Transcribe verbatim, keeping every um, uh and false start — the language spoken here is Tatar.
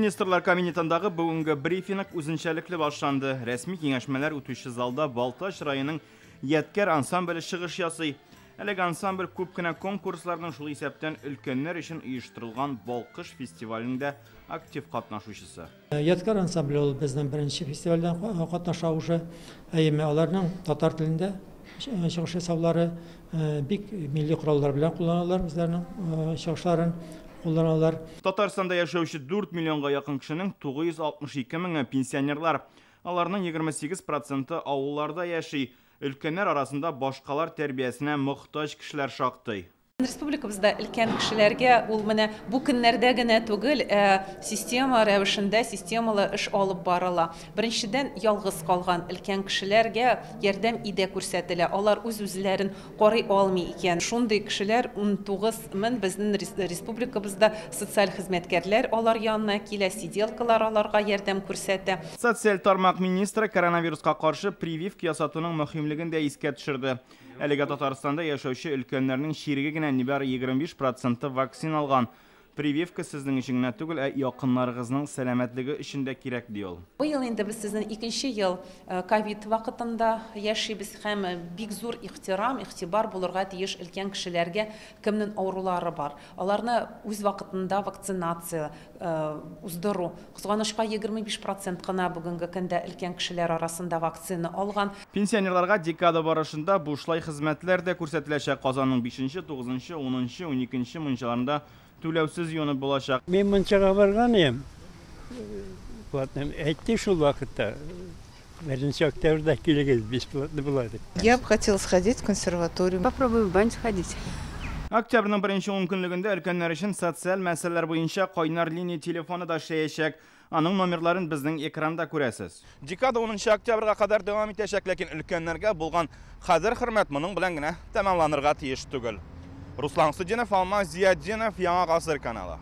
Министрлар кабинетындагы бүгенге брифинг үзенчәлекле башланды. Рәсми киңәшмәләр үтүче залда Балтач районының Ядкәр ансамбле чыгыш ясый. Әлеге ансамбль күп кенә конкурсларның, шул исәптән өлкәннәр өчен оештырылган Балкыш фестивалендә актив катнашучысы. Ядкәр ансамбле ул безнең беренче фестивальдән катнаша уже. Әмма аларның татар телендә чыгыш ясаулары бик милли кораллар белән кулланалар, үзләренең чыгышларын кулланалар. Татарстанда яшәүче дүрт миллионга якын кешенең тугыз йөз алтмыш ике меңе пенсионерлар. Аларның егерме сигез проценты авылларда яши. Өлкәннәр арасында башкалар тәрбиясенә мохтаҗ кешеләр шактый. Республикабызда өлкән кешеләргә ул менә бу көннәрдә генә түгел, ә система рәвешендә системалы эш алып барыла. Беренчедән, ялгыз калган өлкән кешеләргә ярдәм иде күрсәтелә. Алар үз-үзләрен карый алмый икән. Шундый кешеләр ун тугыз мең безнең республикабызда социаль хезмәткәрләр алар янына килә, сиделкалар аларга ярдәм күрсәтә. Социаль тармак министры коронавируска каршы прививка ясатуның мөһимлеген дә искә төшерде. Әлегә Татарстанда яшәүче өлкәннәрнең чиреге генә нибары егерме биш проценты вакцина алган. Прививка сезнең өчен генә түгел, ә якыннарыгызның сәламәтлеге өчен дә кирәк, ди ул. Быел инде без сезнең икенче ел ковид вакытында яшибез һәм бик зур ихтирам, игътибар булырга тиеш өлкән кешеләргә, кемнең авырулары бар. Аларны үз вакытында вакцинация уздыру. Кызганычка, егерме биш процент кына бүгенге көндә өлкән кешеләр арасында вакцина алган. Пенсионерларга декада барышында бушлай хезмәтләр дә күрсәтеләчәк. Казанның бишенче, тугызынчы, унынчы, уникенче мунчаларында түләүсез юынып булачак. Мин мунчага барган идем. Платным әйтте шул вакытта. Беренче октябрьдә килегез, бесплатно була дип. Я бы хотела сходить в консерваторию. Попробую в баню сходить. Октябрьнең беренче ункөнлегендә өлкәннәр өчен социаль мәсьәләләр буенча кайнар линия телефоны да эшләячәк. Аның номерларын безнең экранда күрәсез. Декада унынчы октябрьгә кадәр дәвам итәчәк, ләкин өлкәннәргә булган кадер-хөрмәт моның белән генә тәмамланырга тиеш түгел. Руслан Судинов, Алмаз Зиятдинов, Яңа Гасыр каналы.